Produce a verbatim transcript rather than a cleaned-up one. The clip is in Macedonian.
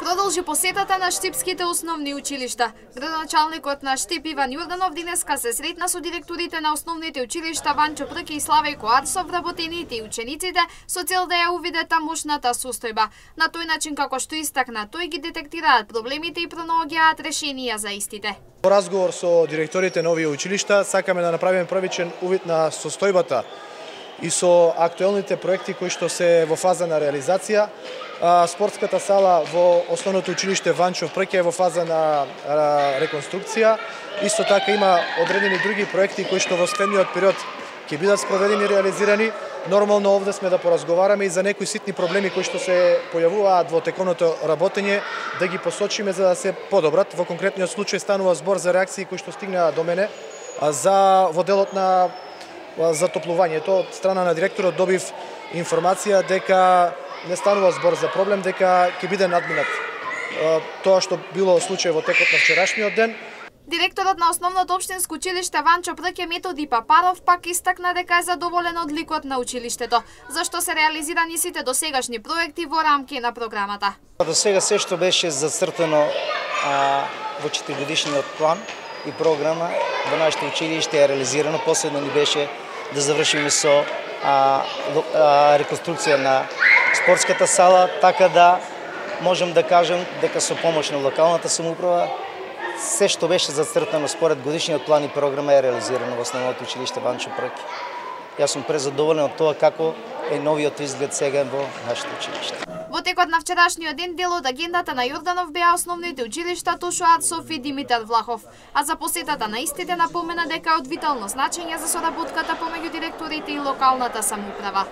Продолжи посетата на штипските основни училишта. Градоначалникот на Штип Иван Јорданов денеска се сретна со директорите на основните училишта Ванчо Прки и Славејко Арсов, вработените и учениците, со цел да ја увидат тамошната состојба. На тој начин, како што истакна, тој ги детектираат проблемите и пронаоѓаат решенија за истите. Во разговор со директорите на овие училишта сакаме да направиме првичен увид на состојбата и со актуелните проекти кои што се во фаза на реализација. Спортската сала во основното училиште Ванчо Прки е во фаза на реконструкција. Исто така има одредени други проекти кои што во следниот период ќе бидат спроведени и реализирани. Нормално овде сме да поразговараме и за некои ситни проблеми кои што се појавуваат во теконото работење, да ги посочиме за да се подобрат. Во конкретниот случај станува збор за реакции кои што стигнаа до мене за во делот на затоплувањето. Од страна на директорот добив информација дека не станува збор за проблем, дека ќе биде надминат тоа што било случај во текот на вчерашниот ден. Директорот на основното општинско училиште Ванчо Прки Методи Папаров пак истакна дека е задоволен од ликот на училиштето, зашто се реализирани сите досегашни проекти во рамки на програмата. До сега се што беше зацртано а, во четиригодишниот план и програма во нашето училиште е реализирано. Последно ни беше да завршиме со а, а, реконструкција на спортската сала, така да можем да кажем дека со помош на локалната самоуправа се што беше зацртано според годишниот план и програма е реализирано во основното училиште Ванчо Прки. Јас сум презадоволен од тоа како е новиот изглед сега во нашето училиште. Во текот на вчерашниот ден дел од агендата на Јорданов беа основните училишта Тошо Арсов и Димитар Влахов, а за посетата на истите напомена дека е од витално значење за соработката помеѓу директорите и локалната самоуправа.